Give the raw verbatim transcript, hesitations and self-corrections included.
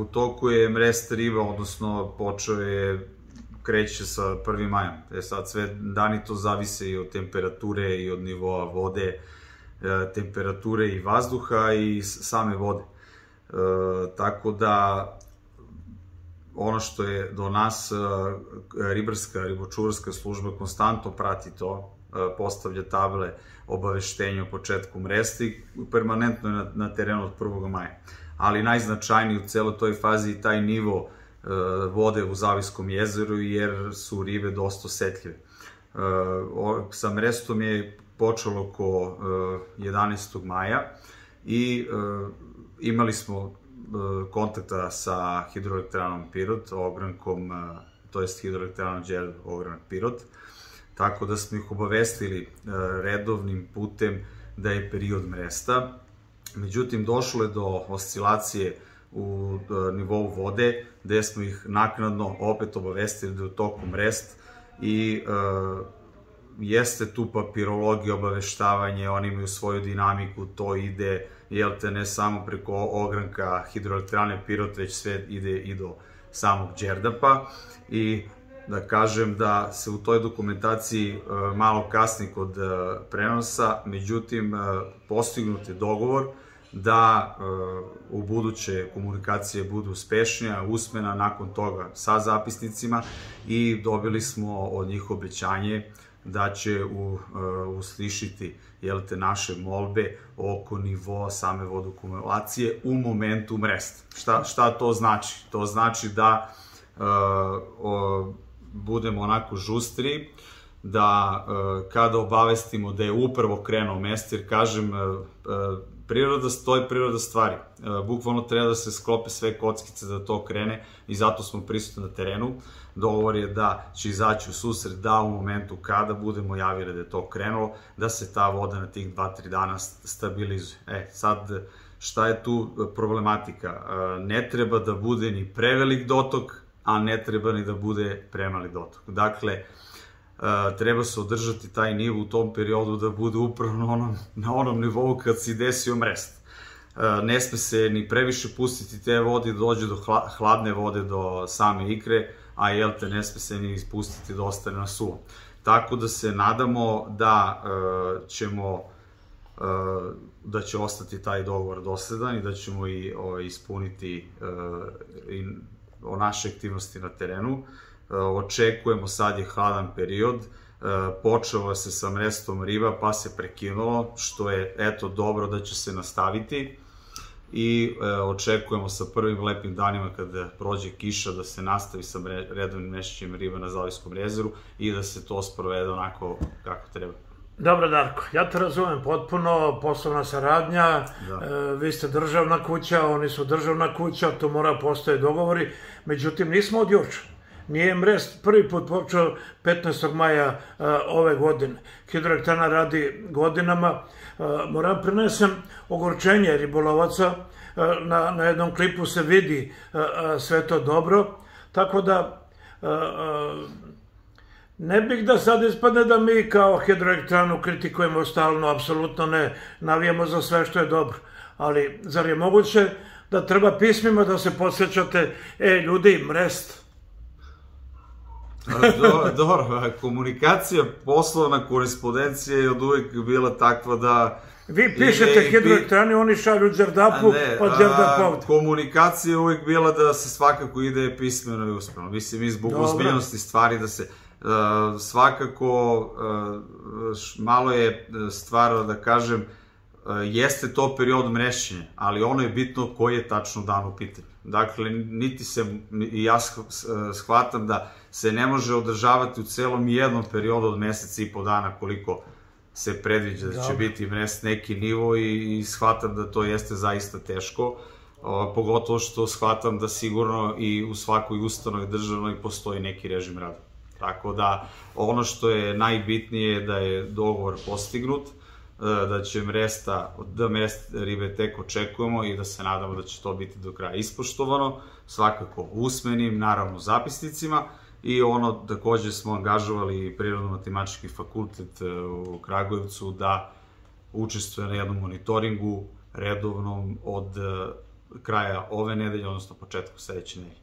u toku je mrest riba, odnosno počeo je, kreće sa prvim majom. E sad sve dani to zavise i od temperature i od nivoa vode, temperature i vazduha i same vode. Tako da ono što je do nas ribarska, ribočuvarska služba konstantno prati to, postavlja table obaveštenja o početku mresta i permanentno je na terenu od prvog maja. Ali najznačajniji u celoj toj fazi je taj nivo vode u Zaviskom jezeru, jer su ribe dosta osetljive. Sa mrestom je počelo oko jedanaestog maja i imali smo kontakta sa hidroelektranom Pirot, ogrankom, to jest hidroelektranom Đerdap ogranak Pirot, tako da smo ih obavestili redovnim putem da je period mresta. Međutim, došlo je do oscilacije u nivou vode, gde smo ih naknadno opet obavestili da je u toku mrest i jeste tu papirologija, obaveštavanje, oni imaju svoju dinamiku, to ide, jel te, ne samo preko ogranka hidroelektrane Pirot, već sve ide i do samog Đerdapa. I da kažem da se u toj dokumentaciji malo kasni kod prenosa, međutim, postignut je dogovor da u buduće komunikacije budu uspešnija, usmena nakon toga sa zapisnicima i dobili smo od njih obećanje da će uslišiti naše molbe oko nivoa same vodokumulacije u momentu mresta. Šta to znači? To znači da budemo onako žustri, da kada obavestimo da je upravo krenuo mest, jer kažem, priroda stoji, priroda stvari. Bukvalno treba da se sklope sve kockice da to krene i zato smo prisutni na terenu. Dogovor je da će izaći u susret da u momentu kada budemo javili da je to krenulo, da se ta voda na tih dva tri dana stabilizuje. E, sad, šta je tu problematika? Ne treba da bude ni prevelik dotok, a ne treba ni da bude premali dotok. Dakle, treba se održati taj nivo u tom periodu da bude upravo na onom nivou kad se desio mrest. Ne sme se ni previše pustiti te vode, da dođe do hladne vode, do same ikre, a jel te, ne sme se ni ispustiti da ostane na suvom. Tako da se nadamo da ćemo, da će ostati taj dogovor dosledan i da ćemo i ispuniti naše aktivnosti na terenu. Očekujemo, sad je hladan period, počelo se sa mrestom riba pa se prekinulo, što je eto dobro da će se nastaviti i očekujemo sa prvim lepim danima kada prođe kiša da se nastavi sa redovnim mešćenjem riba na Zaviskom jezeru i da se to sprovede onako kako treba. Dobro, Darko, ja te razumem potpuno, poslovna saradnja, vi ste državna kuća, oni su državna kuća, tu mora postoje dogovori, međutim nismo od juče. Nije mrest prvi put počeo petnaestog maja ove godine. Hidroelektrana radi godinama. Moram prenesem ogorčenje ribolovaca. Na jednom klipu se vidi sve to dobro. Tako da ne bih da sad ispadne da mi kao hidroelektranu kritikujemo stalno, apsolutno ne. Navijamo za sve što je dobro. Ali zar je moguće da treba pismima da se podsjećate, e ljudi, mrest? Dobro, komunikacija, poslovna korespondencija je od uvek bila takva da... Vi pišete hidroelektrani, oni šalju Đerdapu, pa Đerdap ovde. Komunikacija je uvek bila da se svakako ide pismeno i usmeno. Mislim, i zbog ozbiljnosti stvari da se svakako malo je stvar da kažem, jeste to period mrešćenja, ali ono je bitno koji je tačno dan u pitanju. Dakle, niti se, i ja shvatam da se ne može održavati u celom jednom periodu od meseca i po dana koliko se predviđa da će biti mrest neki nivo i shvatam da to jeste zaista teško, pogotovo što shvatam da sigurno i u svakoj ustanovi državnoj postoji neki režim rada. Tako da, ono što je najbitnije je da je dogovor postignut, da će mresta, da mrest ribe tek očekujemo i da se nadamo da će to biti do kraja ispoštovano, svakako usmenim, naravno zapisnicima, i ono, takođe smo angažovali Prirodno-matematički fakultet u Kragujevcu da učestvuje na jednom monitoringu redovnom od kraja ove nedelje, odnosno početku sledeće nedelje.